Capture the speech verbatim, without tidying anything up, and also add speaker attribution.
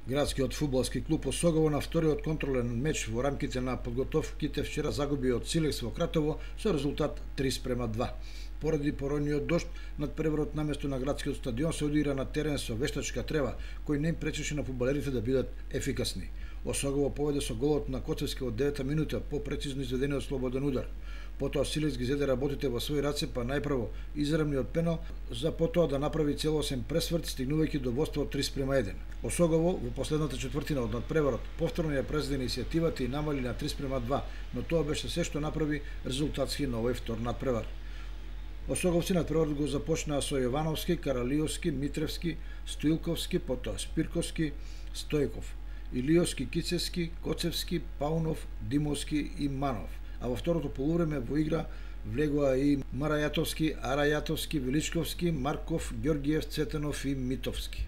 Speaker 1: Градскиот фудбалски клуб Осогово на вториот контролен меч во рамките на подготовките вчера загуби од Силекс во Кратово со резултат три спрема два. Поради поројниот дожд, надпреварот наместо на градскиот стадион се одигра на терен со вештачка трева, кој не им пречеше на фудбалерите да бидат ефикасни. Осогово поведе со голот на Коцевски од девета минута по прецизно изведениот слободен удар. Потоа Силекс ги зеде работите во своји раце, па најпрво изравниот пенал, за потоа да направи целосен пресврт, стигнувајќи до водство од три спрема еден. Осогово во последната четвртина од надпреварот повторно ја презеде иницијативата и намали на три спрема два, но тоа беше се што направи резултатски на овој втор надпревар. Осоговци надпреварот го започнаа со Јовановски, Каралиовски, Митревски, Стоилковски, потоа Спирковски, Стојков, Илиовски, Кицевски, Коцевски, Паунов, Димовски и Манов. А во второто полувреме во игра влегоа и Марајатовски, Арајатовски, Величковски, Марков, Ѓоргиев, Цетанов и Митовски.